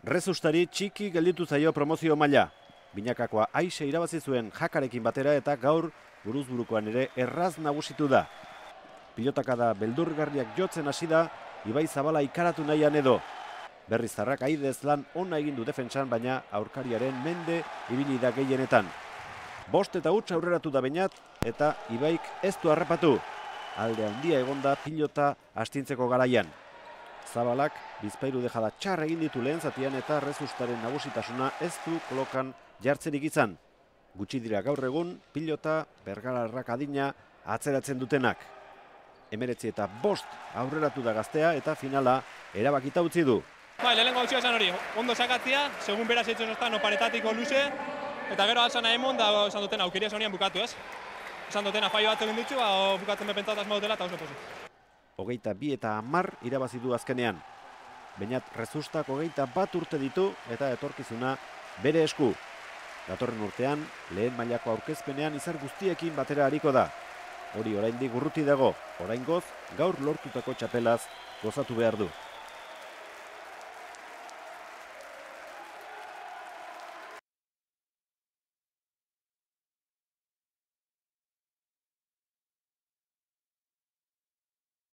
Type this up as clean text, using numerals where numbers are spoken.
Rezustari txiki gelditu zaio promozio maila. Binakakoa Aixe irabazi zuen Jakarekin batera eta gaur buruzburukoan ere erraz nagusitu da. Pilotakada beldurgarriak jotzen hasi da, Ibai Zabala ikaratu nahian edo. Berriztarrak Aidez lan ona egin du defentsan, baina aurkariaren mende ibili da gehienetan. 5 eta huts aurreratu da Beñat eta Ibaik ez du harrapatu. Alde handia egonda pilota astintzeko garaian. Zabalak bizpairu dejada txar egin ditu lehen zatian eta Rezustaren nagusitasuna ez du kolokan jartzerik izan. Gutxi dira gaur egun pilota bergalarrak adina atzeratzen dutenak. 19 eta 5 aurreratu da Gaztea eta finala erabakita utzi du. Lehenengo hau esan hori, ondo sakatzia, segun beraz etxen ostan oparetatiko luze, eta gero alzana emon da esan duten aukeria zonian bukatu, ez? Esan duten afaio bat egin ditzu, bukatzen bepentzat asma dutela eta oso pozik. 22 eta 10 irabazi du azkenean. Beñat Rezustak 21 urte ditu eta etorkizuna bere esku. Datorren urtean, lehen mailako aurkezpenean izar guztiekin batera hariko da. Hori oraindik urruti dago, oraingoz gaur lortutako txapelaz gozatu behar du.